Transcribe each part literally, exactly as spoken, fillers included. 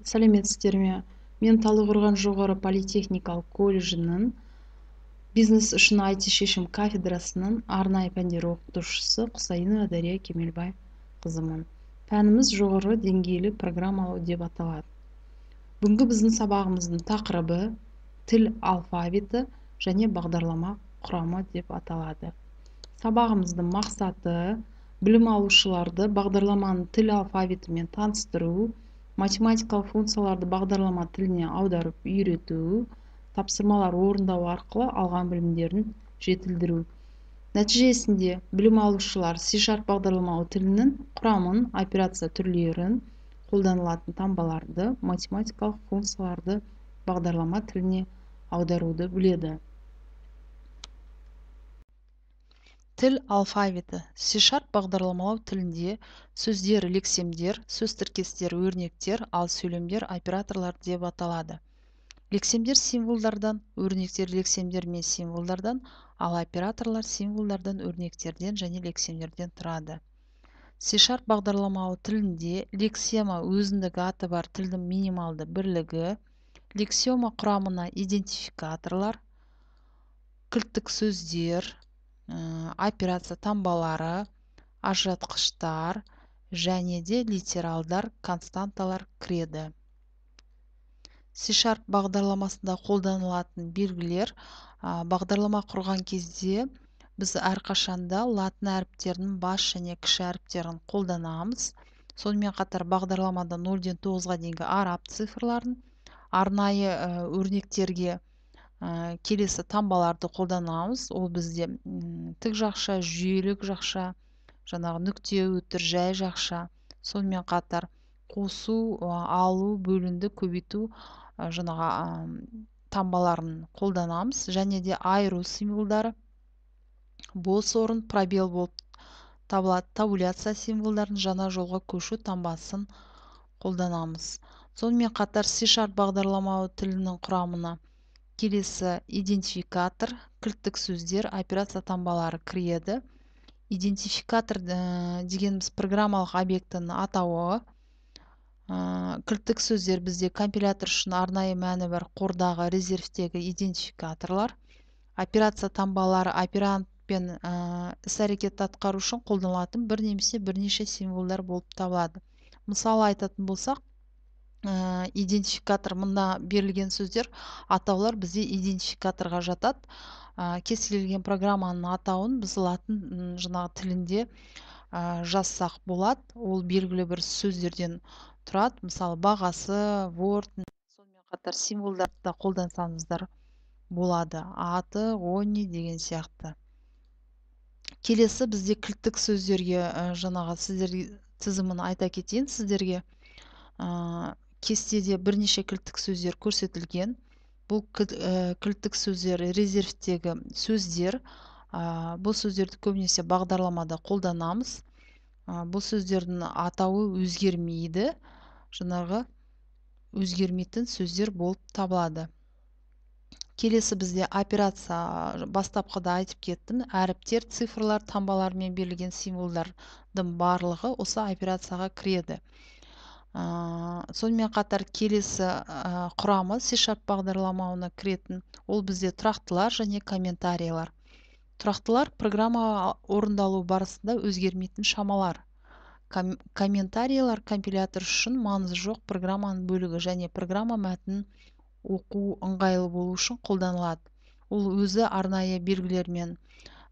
сәлеметсіздер ме? Мен Талдықорған жоғары политехникалық колледжінің бизнес үшін ай ти шешім кафедрасының арнайы пәндер оқытушысы Құсайынова Дария Кемелбай қызымын. Пәніміз жоғары деңгейлі программалау деп аталады. Бүгінгі біздің сабағымыздың тақырыбы тіл алфавиті және бағдарлама құрамы деп аталады. Сабағымыздың мақсаты білім алушыларды бағдарламаның тіл алфавитімен таныстыру, математикалық функцияларды бағдарлама тіліне аударып үйрету, тапсырмалар орындау арқылы алған білімдерін жетілдіру. Нәтижесінде білім алушылар C# бағдарламалау тілінің құрамын, операция түрлерін, қолданылатын таңбаларды, математикалық функцияларды бағдарлама тіліне аударуды біледі. Тіл алфавиті. C# бағдарламалау тілінде сөздер, лексемдер, сөз тіркестер, өрнектер, ал сөйлемдер операторлар деп аталады. Лексемдер символдардан, өрнектер лексемдер мен символдардан, ал операторлар символдардан, өрнектерден және лексемдерден тұрады. C# бағдарламалау тілінде лексема өзіндік аты бар тілдің минималды бірлігі, лексема құрамына идентификаторлар, кілттік сөздер, операция таңбалары, ажыратқыштар және де литералдар, константалар кіреді. C# бағдарламасында қолданылатын белгілер. Бағдарлама құрған кезде біз әрқашанда латын әріптерінің бас және кіші әріптерін қолданамыз. Сонымен қатар бағдарламада нөлден тоғызға дейінгі араб цифрларын, арнайы өрнектерге келесі таңбаларды қолданамыз. Ол бізде тік жақша, жүйелік жақша, жаңағы нүкте, өтір, жай жақша. Сонымен қатар қосу, алу, бөлінді, көбейту жаңағы таңбаларын қолданамыз. Және де айыру символдары, бос орын, пробел болып табылады. Табуляция символдарын, жаңа жолға көшу таңбасын қолданамыз. Сонымен қатар C# бағдарламалау тілінің құрамына келесі идентификатор, кілттік сөздер, операция таңбалары кіреді. Идентификатор дегеніміз программалық объектінің атауы. Кілттік сөздер бізде компилятор үшін арнайы мәні бар қордағы резервтегі идентификаторлар. Операция таңбалары операндпен іс-әрекет атқару үшін қолданылатын бір немесе бірнеше символдар болып табылады. Мысалы айтатын болсақ, идентификатор мында берілген сөздер, атаулар бізде идентификаторға жатады. Кез келген программаның атауын біз латын жаңағы тілінде жазсақ болады. Ол белгілі бір сөздерден тұрады. Мысалы бағасы, Word, сонымен қатар символдарды қолдансаңыздар болады. Аты, они деген сияқты. Келесі бізде кілттік сөздерге жаңағы сіздерге тізімін айта кетейін сіздерге. Кестеде бірнеше кілттік сөздер көрсетілген. Бұл кілттік сөздер резервтегі сөздер. Бұл сөздерді көбінесе бағдарламада қолданамыз. Бұл сөздердің атауы өзгермейді. Жаңағы өзгермейтін сөздер болып табылады. Келесі бізде операция, бастапқыда айтып кеттім. Әріптер, цифрлар, таңбалармен берілген символдардың барлығы осы операцияға кіреді. Сонымен қатар келесі құрамы C# бағдарламауына кіретін. Ол бізде тұрақтылар және комментариялар. Тұрақтылар программа орындалу барысында өзгермейтін шамалар. Комментариялар компилятор үшін маңызы жоқ программаның бөлігі және программа мәтінін оқу ыңғайлы болу үшін қолданылады. Ол өзі арнайы белгілермен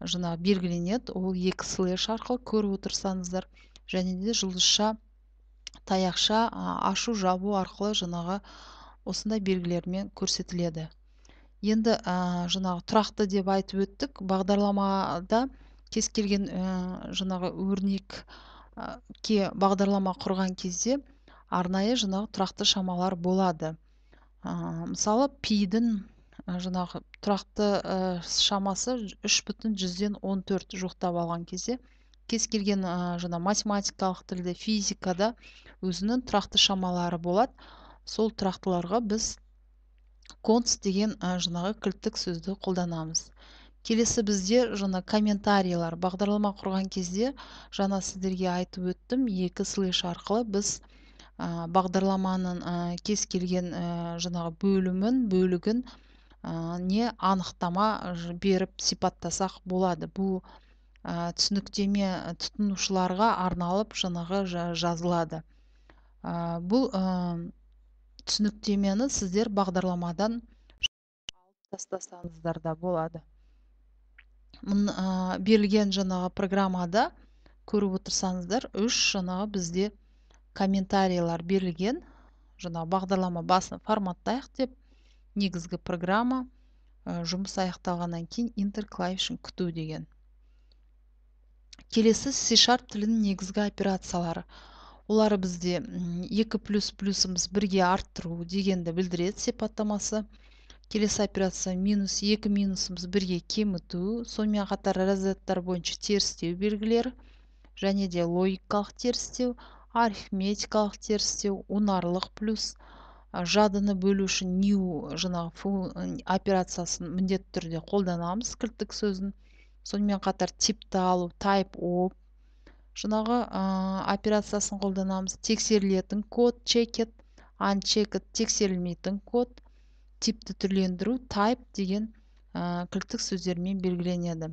жаңа белгіленеді. Ол екі слэш арқылы көріп отырсаңыздар, және де жұлдызша, таяқша, ашу, жабу арқылы жаңағы осындай белгілермен көрсетіледі. Енді жаңағы тұрақты деп айтып өттік. Бағдарламада кез келген жаңағы өрнекке бағдарлама құрған кезде арнайы жаңағы тұрақты шамалар болады. Мысалы, пидің жаңағы тұрақты шамасы үш бүтін жүзден он төрт жоқтап алған кезде, кез келген жаңа математикалық тілде, физикада өзінің тұрақты шамалары болады. Сол тұрақтыларға біз конст деген жаңағы кілттік сөзді қолданамыз. Келесі бізде жаңа комментариялар. Бағдарлама құрған кезде жаңа сіздерге айтып өттім, екі слэш арқылы біз ә, бағдарламаның ә, кез келген ә, жаңағы бөлімін бөлігін ә, не анықтама беріп сипаттасақ болады. Бұл ә, түсініктеме тұтынушыларға арналып жаңағы жазылады. Ә, бұл ә, түсініктемені сіздер бағдарламадан алып тастасаңыздар да болады. Мұн, ә, берілген жаңағы программада көріп отырсаңыздар үш жаңағы бізде комментарийлар берілген. Жаңағы бағдарлама басын форматтайық деп, негізгі программа, ә, жұмыс аяқталғаннан кейін интер клавишін күту деген. Келесі C# тілінің негізгі операциялары. Олар бізде екі плюс плюсымыз бірге арттыру дегенді білдіреді сипаттамасы. Келесі операция минус екі минусымыз бірге кеміту, сонымен қатар разрядтар бойынша терістеу белгілері, және де логикалық терістеу, арифметикалық терістеу, унарлық плюс, жадыны бөлу үшін new жаңағы операциясын міндетті түрде қолданамыз, кілттік сөзін. Сонымен қатар типті алу, type of жаңағы операциясын қолданамыз. Тексерілетін код, checked, unchecked, тексерілмейтін код, типті түрлендіру, type деген ә, кілттік сөздермен белгіленеді.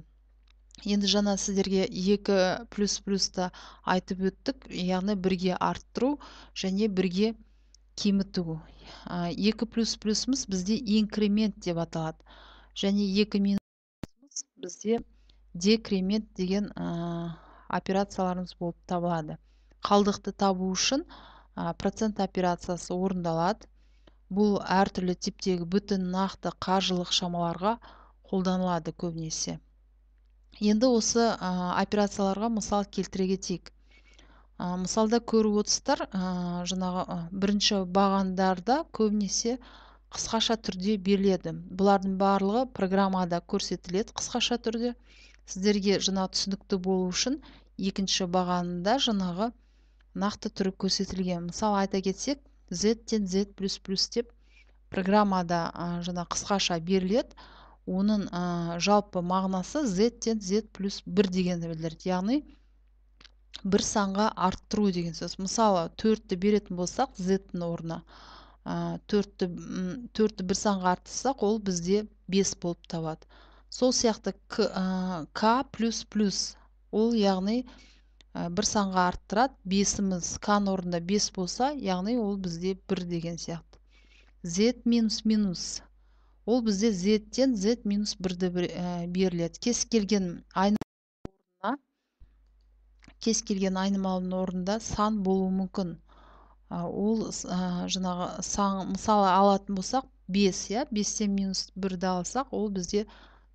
Енді жаңа сіздерге екі плюс плюсты айтып өттік, яғни бірге арттыру және бірге кеміту. Ә, екі плюс плюсымыз бізде инкремент деп аталады. Және екі минусымыз бізде декремент деген ә, операцияларымыз болып табылады. Қалдықты табу үшін ә, процент операциясы орындалады. Бұл әртүрлі типтегі бүтін нақты қаржылық шамаларға қолданылады көбінесе. Енді осы ә, операцияларға мысал келтіре кетейік. Ә, мысалда көріп отырсыздар, ә, жаңағы ә, бірінші бағандарда көбінесе қысқаша түрде беріледі. Бұлардың барлығы программада көрсетіледі қысқаша түрде. Сіздерге жаңағы түсінікті болу үшін екінші бағанында жаңағы нақты түрі көрсетілген. Мысалы айта кетсек, z-тен z плюс плюс деп программада ә, жаңа қысқаша беріледі. Оның ә, жалпы мағынасы z-тен z плюс бір дегенді білдіреді. Яғни бір санға арттыру деген сөз. Мысалы төртті беретін болсақ, z-тің орнына ә, төртті, төртті бір санға арттырсақ, ол бізде бес болып табады. Сол сияқты k, ә, k плюс плюс, ол яғни бір санға арттырады. Бесіміз k-ның орнында бес болса, яғни ол бізде бір деген сияқты. Z минус минус, ол бізде z-тен z минус бірді беріледі. Кез келген айнымалының кез келген айнымалының орнында сан болуы мүмкін. Ол жаңағы сан, мысалы алатын болсақ бес, я бестен минус бірді алсақ, ол бізде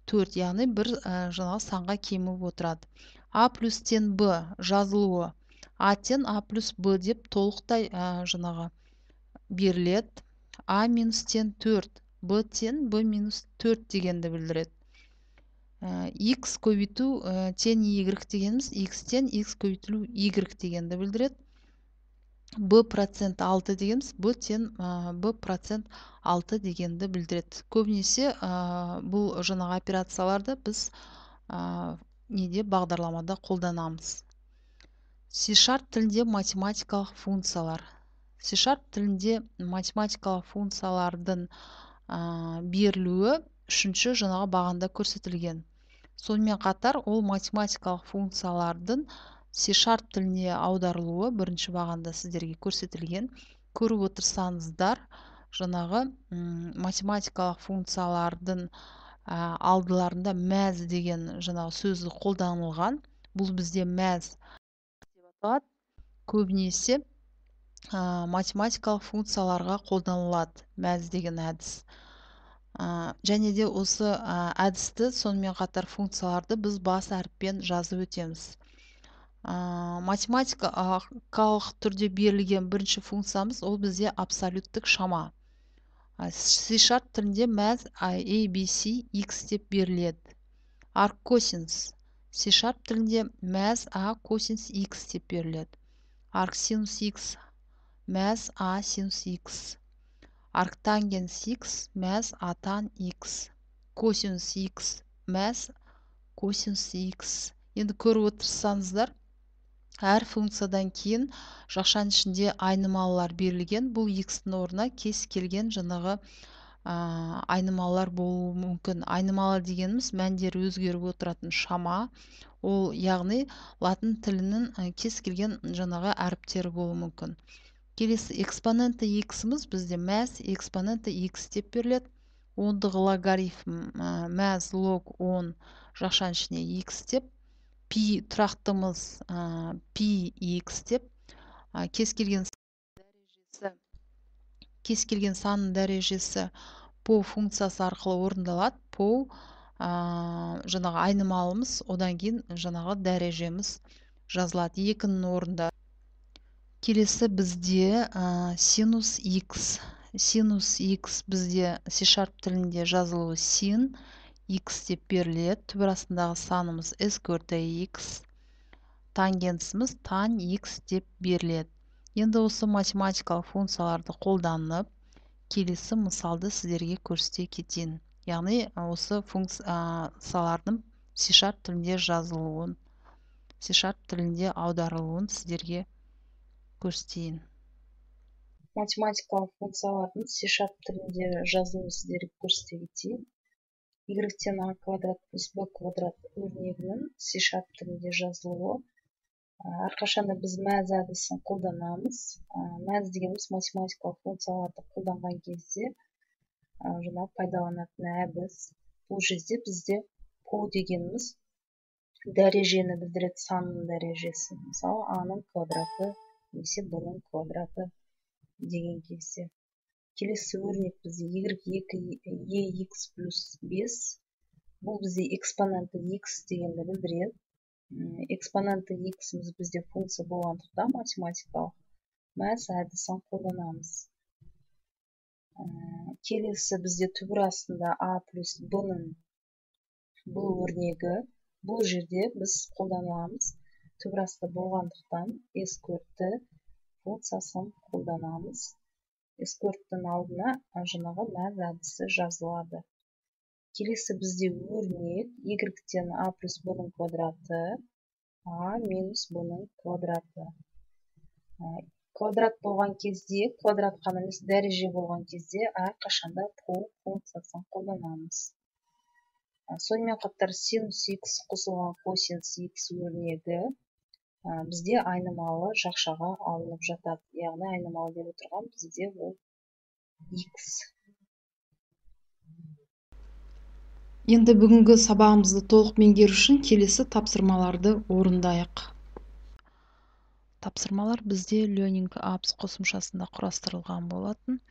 төрт, яғни бір жаңағы санға кеміп отырады. А плюс-тен Б жазылуы А-тен А плюс Б деп толықтай жаңағы беріледі. А минус-тен төрт, Б-тен Б минус төрт дегенді білдіреді. X көбейту тен Y дегеніміз X-тен X көбейтілу Y дегенді білдіреді. Б процент алты дегеніміз Б-тен Б процент алты дегенді білдіреді. Көбінесе бұл жаңағы операцияларды біз неде бағдарламада қолданамыз. C# тілінде математикалық функциялар. C# тілінде математикалық функциялардың ә, берілуі үшінші жаңағы бағанда көрсетілген. Сонымен қатар ол математикалық функциялардың C# тіліне аударылуы бірінші бағанда сіздерге көрсетілген. Көріп отырсаңыздар, жаңағы математикалық функциялардың ә, алдыларында мәз деген жаңағы сөзі қолданылған. Бұл бізде мәз деп аталады. Көбінесе ә, математикалық функцияларға қолданылады мәз деген әдіс. Ә, және де осы ә, әдісті сонымен қатар функцияларды біз бас әріппен жазып өтеміз. Ә, математикалық түрде берілген бірінші функциямыз ол бізде абсолюттік шама. C# тілінде мәз A, B, C, X деп беріледі. Арккосинус C# тілінде мәз A косинус X деп беріледі. Арксинус X мәз A синус X. Арктангенс X мәз A тан X. Косинус X мәз косинус X. Енді көріп отырсаңыздар, әр функциядан кейін жақшаның ішінде айнымалылар берілген. Бұл x-тің орнына кез келген жаңағы айнымалылар болуы мүмкін. Айнымалы дегеніміз мәндері өзгеріп отыратын шама. Ол яғни латын тілінің кез келген жаңағы әріптері болуы мүмкін. Келесі экспоненті x-іміз бізде мәз экспоненті x деп беріледі. Ондығы логарифм мәз лог он жақшаның ішіне x деп, пи тұрақтымыз пи x деп, кез келген дәрежесі кез келген санның дәрежесі по функциясы арқылы орындалады. По жаңағы айнымалымыз, одан кейін жаңағы дәрежеміз жазылады екінің орында. Келесі бізде синус x. Синус x бізде C-Sharp тілінде жазылуы син x деп беріледі. Түбір астындағы санымыз сквертті x. Тангенсіміз тан x деп беріледі. Енді осы математикалық функцияларды қолданып, келесі мысалды сіздерге көрсете кетейін. Яғни осы функциялардың C-Sharp тілінде жазылуын, C-Sharp тілінде аударылуын сіздерге көрсетейін. Математикалық функциялардың C-Sharp тілінде жазылуын сіздерге көрсете кетейін. Y-тен a квадрат плюс b квадрат өрнегінің C-Sharp тілінде жазылуы. Әрқашанда біз мәз әдісін қолданамыз. Мәз дегеніміз математикалық функцияларды қолданған кезде жаңа пайдаланатын әдіс. Бұл жерде бізде по дегеніміз дәрежені білдіреді, санның дәрежесі. Мысалы, а-ның квадраты немесе b-ның квадраты деген кезде. Келесі өрнек бізде y екі ex плюс бес. Бұл бізде экспоненті x дегенді білдіреді. Экспоненті x-іміз бізде функция болғандықтан математикалық мәз әдісін қолданамыз. Келесі бізде түбір астында a плюс b-ның b өрнегі. Бұл жерде біз қолданамыз. Түбір асты болғандықтан сквертті функциясын қолданамыз. Скверттің алдына жаңағы мәз әдісі жазылады. Келесі бізде өрнек y-тен a плюс b-ның квадраты, a минус b-ның квадраты. Квадрат болған кезде, квадрат қана емес дәреже болған кезде әрқашанда по функциясын қолданамыз. Сонымен қатар синус x қосылған косинус x өрнегі бізде айнымалы жақшаға алынып жатады. Яғни айнымалы деп отырған бізде ол x. Енді бүгінгі сабағымызды толық меңгеру үшін келесі тапсырмаларды орындайық. Тапсырмалар бізде Learning Apps қосымшасында құрастырылған болатын.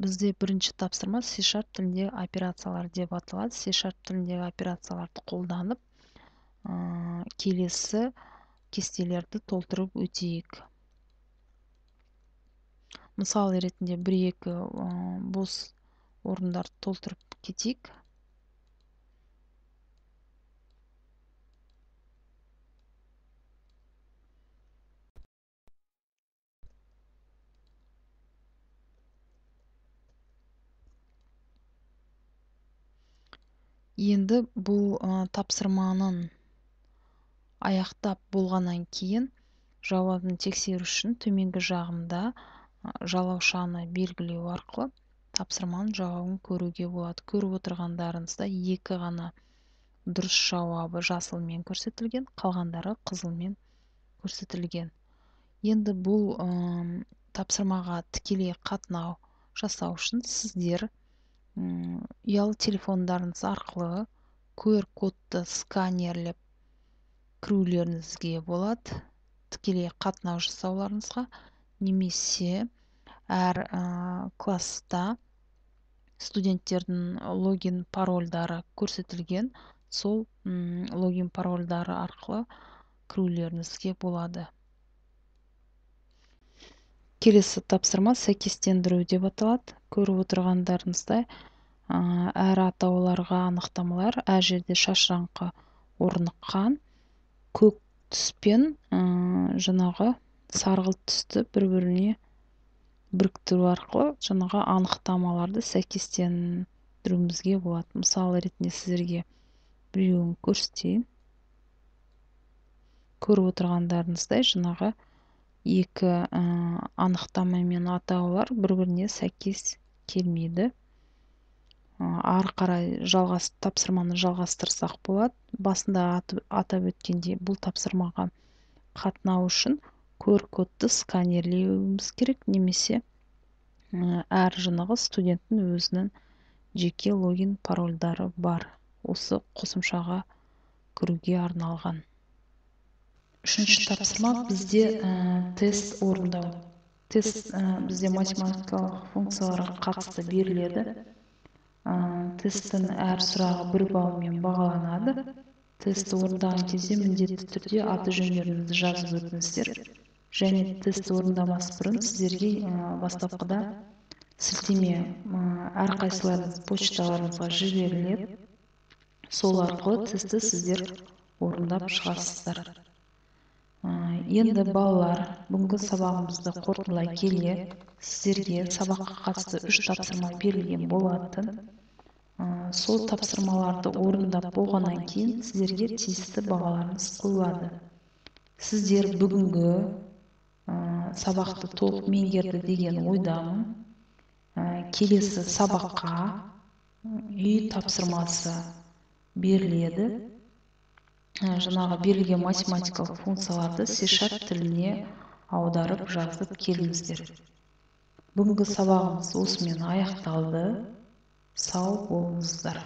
Бізде бірінші тапсырма C-Sharp тіліндегі операциялар деп аталады. C-Sharp тіліндегі операцияларды қолданып, келесі кестелерді толтырып өтейік. Мысал ретінде бір-екі бос орындарды толтырып кетейік. Енді бұл тапсырманың аяқтап болғаннан кейін жауабын тексеру үшін төменгі жағында жалаушаны белгілеу арқылы тапсырманың жауабын көруге болады. Көріп отырғандарыңызда екі ғана дұрыс жауабы жасылмен көрсетілген, қалғандары қызылмен көрсетілген. Енді бұл тапсырмаға тікелей қатынау жасау үшін сіздер ұялы телефондарыңыз арқылы ку ар кодты сканерлеп кірулеріңізге болады. Тікелей қатынау жасауларыңызға, немесе әр класста студенттердің логин парольдары көрсетілген, сол логин парольдары арқылы кірулеріңізге болады. Келесі тапсырма сәйкестендіру деп аталады. Көріп отырғандарыңыздай әр атауларға анықтамалар әр жерде шашыраңқы орныққан, көк түспен жаңағы сарғылт түсті бір-біріне біріктіру арқылы жаңағы анықтамаларды сәйкестендіруімізге болады. Мысалы ретінде сіздерге біреуін көрсетейін. көріп отырғандарыңыздай жаңағы екі анықтама мен атаулар бір-біріне сәйкес келмейді. Ары қарай жалғас тапсырманы жалғастырсақ болады. Басында атап өткендей, бұл тапсырмаға қатынау үшін ку ар кодты сканерлеуіміз керек, немесе әр жаңағы студенттің өзінің жеке логин парольдары бар. Осы қосымшаға кіруге арналған. Үшінші тапсырма бізде тест орындау. Тест бізде математикалық функцияларға қатысты беріледі. Тесттің әр сұрағы бір баллмен бағаланады. Тестті орындаған кезде міндетті түрде аты жөндеріңізді жазып өтіңіздер. Және тестті орындамас бұрын сіздерге бастапқыда сілтеме әрқайсыларыңыз почталарыңызға жіберіледі. Сол арқылы тестті сіздер орындап шығасыздар. Енді балалар, бүгінгі сабағымызды қорытындылай келе, сіздерге сабаққа қатысты үш тапсырма берілген болатын. Сол тапсырмаларды орындап болғаннан кейін сіздерге тиісті бағаларыңыз қойылады. Сіздер бүгінгі сабақты толық меңгерді деген ойдамын. Келесі сабаққа үй тапсырмасы беріледі. Жаңағы берілген математикалық функцияларды си шарп тіліне аударып жазып келіңіздер. Бүгінгі сабағымыз осымен аяқталды. Сау болыңыздар.